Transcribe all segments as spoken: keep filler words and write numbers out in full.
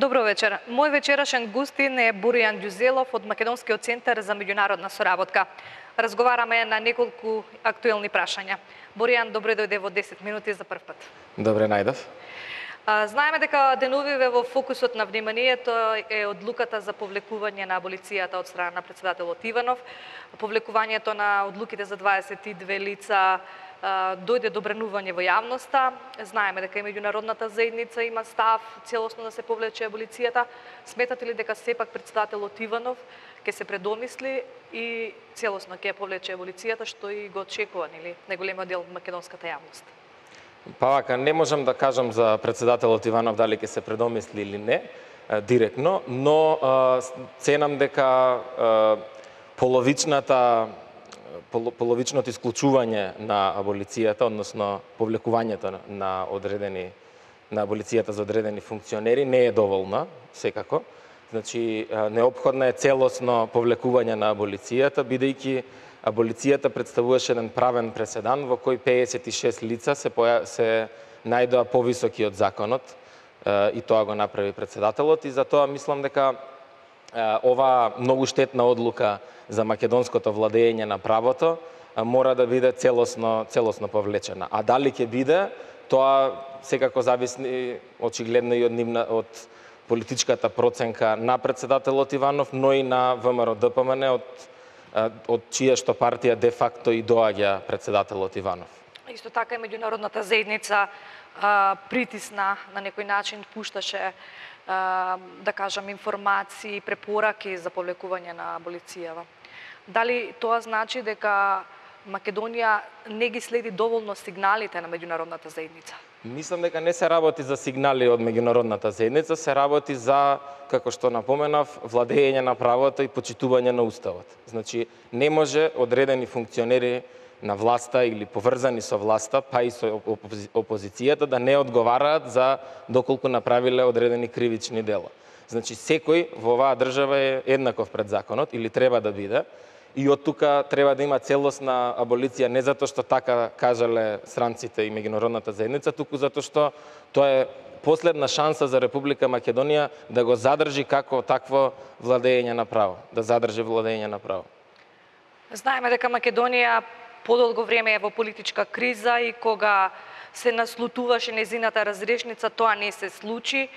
Добро вечер. Мој вечерашен гостин е Боријан Ѓузелов од Македонскиот центар за меѓународна соработка. Разговараме на неколку актуелни прашања. Боријан, добре дојде во десет минути за прв пат. Добре најдов. Знаеме дека деновиве во фокусот на вниманието е одлуката за повлекување на аболицијата од страна на претседателот Иванов. Повлекувањето на одлуките за дваесет и две лица дојде до бренување во јавноста. Знаеме дека и меѓународната заедница има став целосно да се повлече аболицијата. Сметате ли дека сепак претседателот Иванов ќе се предомисли и целосно ќе повлече аболицијата, што и го очекува, нели, најголемиот дел од македонската јавност? Па вака, не можам да кажам за претседателот Иванов дали ќе се предомисли или не, директно, но ценам дека половичната половичното исклучување на аболицијата, односно повлекувањето на одредени на аболицијата за одредени функционери не е доволна, секако. Значи, неопходно е целосно повлекување на аболицијата, бидејќи аболицијата представуваше еден правен преседан во кој пеесет и шест лица се, поја... се најдоа повисоки од законот и тоа го направи претседателот и затоа мислам дека ова многу штетна одлука за македонското владење на правото мора да биде целосно целосно повлечена. А дали ќе биде, тоа секако зависи очигледно и од нивна од политичката проценка на претседателот Иванов, но и на ВМРО Д П М Н од од чија што партија де факто и доаѓа претседателот Иванов. Исто така и меѓународната заедница а, притисна на некој начин, пушташе а, да кажам информации, препораки за повлекување на аболицијава. Дали тоа значи дека Македонија не ги следи доволно сигналите на меѓународната заедница? Мислам дека не се работи за сигнали од меѓународната заедница, се работи за, како што напоменав, владење на правото и почитување на уставот. Значи, не може одредени функционери на власта или поврзани со власта, па и со опозицијата, да не одговараат за доколку направиле одредени кривични дела. Значи, секој во оваа држава е еднаков пред законот, или треба да биде, и од тука треба да има целосна аболиција, не затоа што така кажале странците и меѓународната заедница, туку затоа што тоа е последна шанса за Република Македонија да го задржи како такво владење на право, да задржи владење на право. Знаеме дека Македонија подолго време е во политичка криза и кога се наслутуваше незината разрешница, тоа не се случи.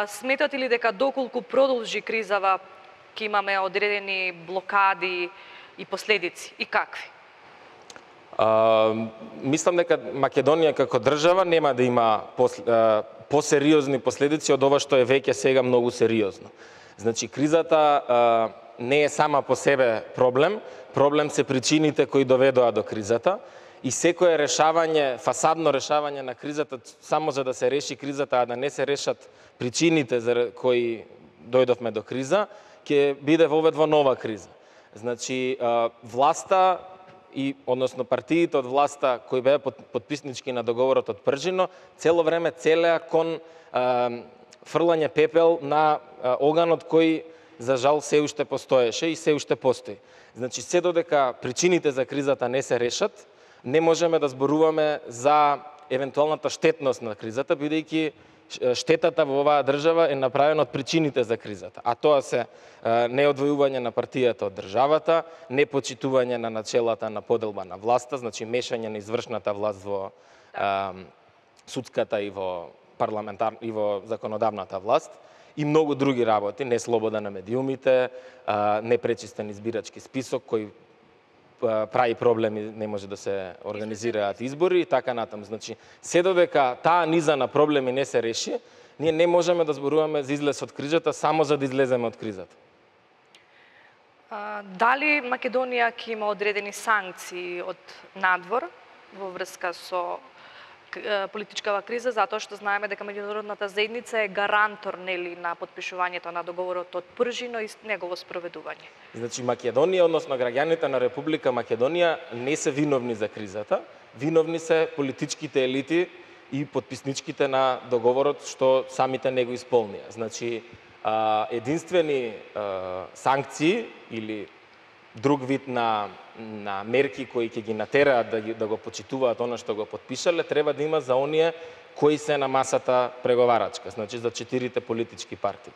Сметате ли дека доколку продолжи кризава, ќе имаме одредени блокади и последици, и какви? А, мислам дека Македонија како држава нема да има пос, посериозни последици од ова што е веќе сега многу сериозно. Значи, кризата а, не е сама по себе проблем, проблем се причините кои доведоа до кризата и секое решавање, фасадно решавање на кризата, само за да се реши кризата, а да не се решат причините за кои дојдовме до криза, ќе биде воведува нова криза. Значи, власта и односно партиите од власта кои беа подписнички на договорот од Пржино, цело време целеа кон фрлање пепел на оганот кој за жал се уште постоеше и се уште постои. Значи, се додека причините за кризата не се решат, не можеме да зборуваме за евентуалната штетност на кризата, бидејќи штетата во оваа држава е направена од причините за кризата, а тоа се неодвојување на партијата од државата, непочитување на начелата на поделба на власта, значи мешање на извршната власт во а, судската и во парламентар и во законодавната власт и многу други работи, не слобода на медиумите, а, непречистен избирачки список кој прави проблеми, не може да се организираат избори и така натаму. Значи, се додека таа низа на проблеми не се реши, ние не можеме да зборуваме за излез од кризата само за да излеземе од кризата. А, дали Македонија ќе има одредени санкции од надвор во врска со политичкава криза, затоа што знаеме дека меѓународната заедница е гарантор, нели, на подпишувањето на договорот од Пржино и негово спроведување? Значи, Македонија, односно граѓаните на Република Македонија не се виновни за кризата, виновни се политичките елити и подписничките на договорот што самите не го исполнија. Значи, единствени санкции или друг вид на на мерки кои ќе ги натераат да, ги, да го почитуваат она што го потпишале, треба да има за оние кои се на масата преговарачка, значи за четирите политички партии.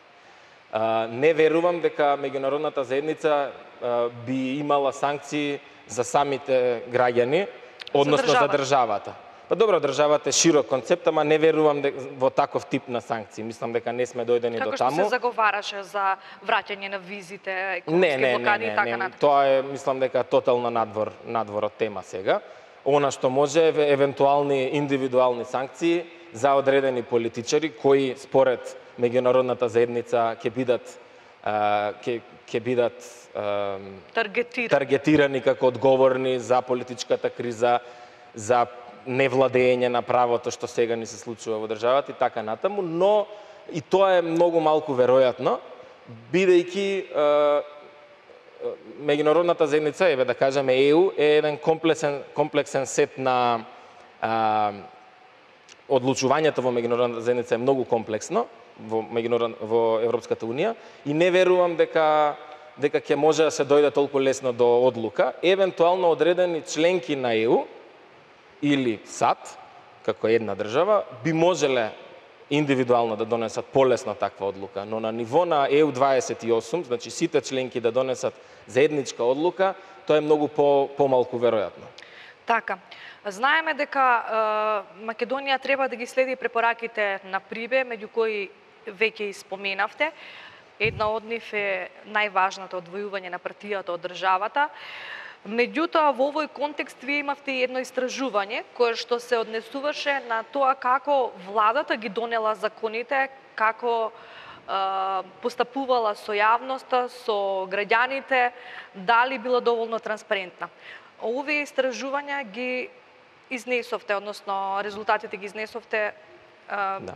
А, не верувам дека меѓународната заедница а, би имала санкции за самите граѓани, односно за државата. За државата. Па добро, државата е широк концепт, ама не верувам дека во таков тип на санкции. Мислам дека не сме дојдени Како до таму. Како што се заговараше за враќање на визите, не, економски не, блокади не, и така не, натаму. Тоа е, мислам дека тотално надвор, надвор од тема сега. Она што може е евентуални индивидуални санкции за одредени политичари кои според меѓународната заедница ќе бидат ќе ќе бидат таргетирани. таргетирани како одговорни за политичката криза, за невладење на правото што сега ни се случува во државата и така натаму, но и тоа е многу малку веројатно, бидејќи меѓународната заедница, еве да кажеме Е У, е еден комплексен комплексен сет на а, одлучувањето во меѓународната заедница е многу комплексно во меѓународ во Европската унија и не верувам дека дека ќе може да се дојде толку лесно до одлука. Евентуално одредени членки на Е У или САД, како една држава, би можеле индивидуално да донесат полесно таква одлука, но на ниво на Е У дваесет и осум, значи сите членки да донесат заедничка одлука, тоа е многу по помалку веројатно. Така. Знаеме дека е, Македонија треба да ги следи препораките на Прибе, меѓу кои веќе и споменавте. Една од нив е најважната одвојување на партијата од државата. Меѓутоа, во овој контекст вие имавте едно истражување кое што се однесуваше на тоа како владата ги донела законите, како е, постапувала со јавноста, со граѓаните, дали била доволно транспарентна. Овие истражувања ги изнесовте, односно резултатите ги изнесовте е, да.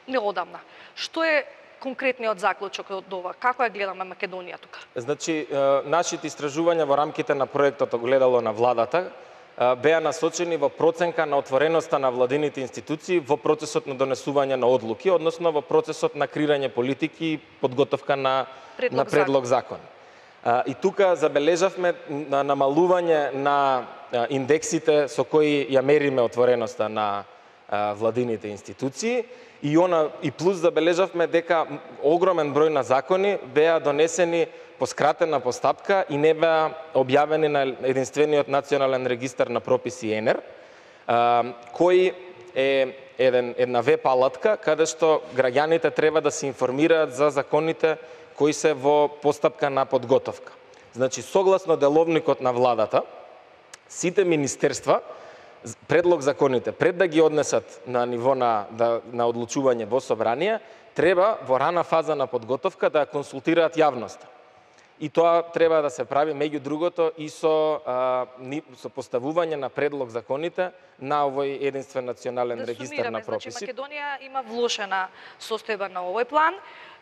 неодамна. Што е конкретниот заклучок од ова? Како ја гледаме Македонија тука? Значи, нашите истражувања во рамките на проектот Огледало на владата беа насочени во проценка на отвореноста на владините институции во процесот на донесување на одлуки, односно во процесот на креирање политики и подготовка на предлог, на предлог закон. закон. И тука забележавме на намалување на индексите со кои ја мериме отвореноста на владините институции. И она и плюс забележавме дека огромен број на закони беа донесени по скратена постапка и не беа објавени на единствениот национален регистар на прописи Е Н Ер, кој е еден, една веб алатка каде што граѓаните треба да се информираат за законите кои се во постапка на подготовка. Значи, согласно деловникот на владата, сите министерства предлог законите, пред да ги однесат на ниво на, да, на одлучување во собрание, треба во рана фаза на подготовка да консултираат јавноста. И тоа треба да се прави меѓу другото и со, а, ни, со поставување на предлог законите на овој единствен национален да регистар на прописи. Значи, Македонија има влошена состојба на овој план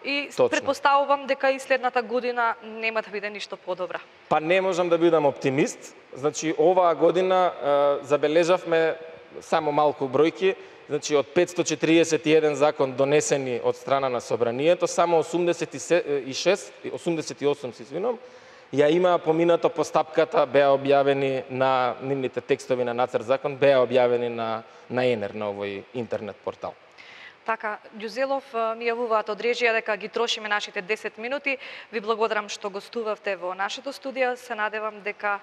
и Точно. Предпоставувам дека и следната година нема да биде ништо подобра. Па не можам да бидам оптимист. Значи, оваа година а, забележавме само малку бројки, значи од петстотини четиридесет и еден закон донесени од страна на собранието, само осумдесет и шест, осумдесет и осум се извинувам, ја има поминато постапката, беа објавени на нивните текстови на нацрт закон, беа објавени на на Е Н Ер, на овој интернет портал. Така, Ѓузелов, ми јавуваат од режија дека ги трошиме нашите десет минути. Ви благодарам што гостувавте во нашето студио. Се надевам дека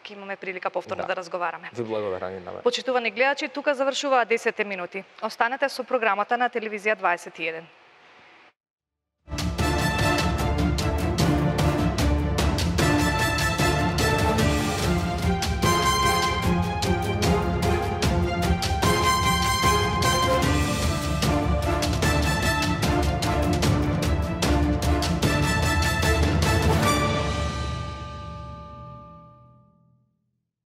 ќе имаме прилика повторно да, да разговараме. Ви благодарам и на вас. Почитувани гледачи, тука завршуваат десет минути. Останете со програмата на телевизија дваесет и еден.